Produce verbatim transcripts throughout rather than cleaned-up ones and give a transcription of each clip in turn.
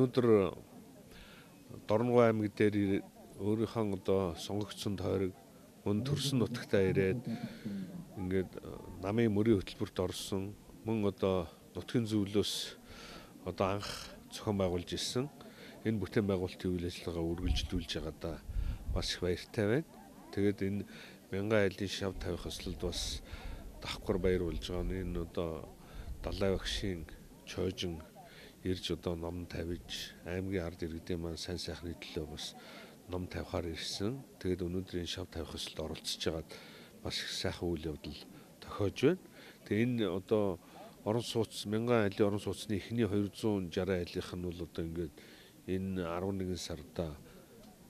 өнөөдөр Дорногов аймаг дээр өөрийнхөө одоо сонгогдсон тойрог мөн төрсөн нутагтаа ирээд ингээд намын мөрийн хөтөлбөрт орсон мөн одоо нутгийн зөвлөөс одоо анх зохион байгуулж ирсэн энэ бүтээн байгуулалтын үйл ажиллагаа үргэлжлүүлж байгаадаа бас их баяртай байна. Тэгээд энэ мянган айлын шав тавих өслөлд бас давхар баяр болж байгаа нь энэ одоо далай багшийн чойжин ирж одоо ном тавьж аймгийн ард иргэдийн маань сайн сайхны төлөө бас ном тавихаар ирсэн. Тэгээд өнөөдрийн шав тавих өсөлд оролцож байгаад бас их сайхан үйл явдал тохиож байна. Тэгээд энэ одоо орон сууц мянган айлын орон сууцны эхний хоёр зуун шарган айлынх нь бол одоо ингээд энэ арван нэгэн сарда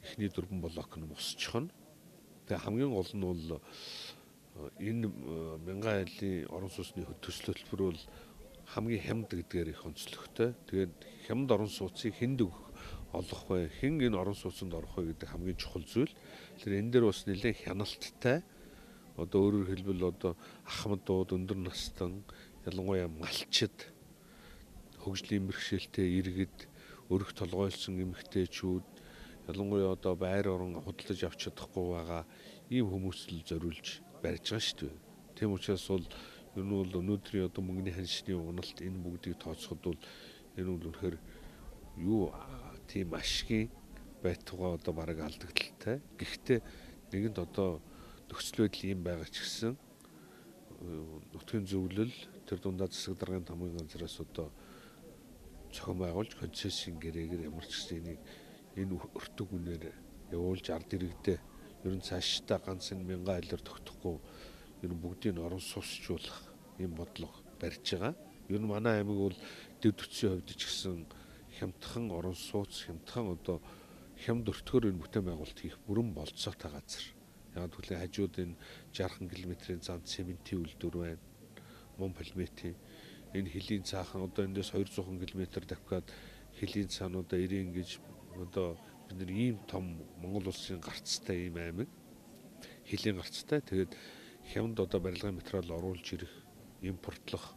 эхний дөрвөн блок нь мосчихно. Тэгээд хамгийн гол нь бол энэ мянган айлын орон сууцны төсөл хөтөлбөр бол хамгийн хямд гэдгээр их онцлогтой. Тэгээд хямд орон сууцыг хэнд олох вэ? Хэн энэ орон сууцанд орох вэ гэдэг хамгийн чухал зүйл. Тэр энэ дээр бас нэлээд хяналттай. Одоо өөрөөр хэлбэл одоо ахмадууд, өндөр настан, ялангуяа малчид, хөгжлийн бэрхшээлтэй иргэд, өрх толгойлсон эмэгтэйчүүд, ялангуяа одоо байр орон худалдаж авч чадахгүй байгаа ийм хүмүүст л зориулж барьж байгаа шүү дээ. Тийм учраас бол ер нь бол өнөөдрийн одоо мөнгөний ханшны уналт энэ бүгдийг тооцоход бол энэ бол үнэхээр юу тийм ашигын байтугай одоо бараг алдагдaltaй. Гэхдээ нэгэнд одоо нөхцөл байдал ийм байгаа ч гэсэн нутгийн зөвлөл тэр дундаа засаг даргын тамгын ганцраас одоо зохион байгуулж концессийн гэрээгээр ямар ч гэсэн энийг энэ өртөг үнээр явуулж ард иргэдээ ер нь цаашдаа ганц энэ мянган айлаар тогтохгүй ер нь бүгдийг орон суусчлуулах ийм бодлого барьж байгаа. Ер нь манай аймаг бол дэв төцсийн хувьд ч гэсэн хямдхан орон сууц, хямдхан одоо хямд өртгөр энэ бүтээн байгуулалт хийх бүрэн болцоотой газар. Яг тэгвэл хажууд энэ шархан километрийн зам цементийн үйлдвэр байна. Мон полиметийн энэ хилийн цаахан одоо эндээс хоёр зуун км давхиад хилийн цаануудаа ирэн гэж одоо бид нар ийм том Монгол улсын гарцтай ийм аймаг. Хилийн гарцтай. Тэгээд хямд одоо барилгын материал оруулж ирэх, импортлох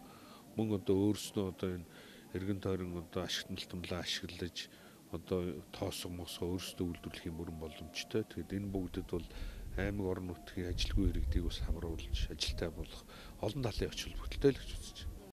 мөн одоо өөрснөө одоо энэ эргэн тойрон одоо ашигт малтамлаа ашиглаж одоо тоосго мосго өөрсдөө үйлдвэрлэх юм бүрэн боломжтой. Тэгэхээр энэ бүгдэд бол аймаг орон нутгийн ажилгүй иргэдийг бас хамруулж ажилтай болох олон талын оч холбогдолтой л гэж үзэж байна.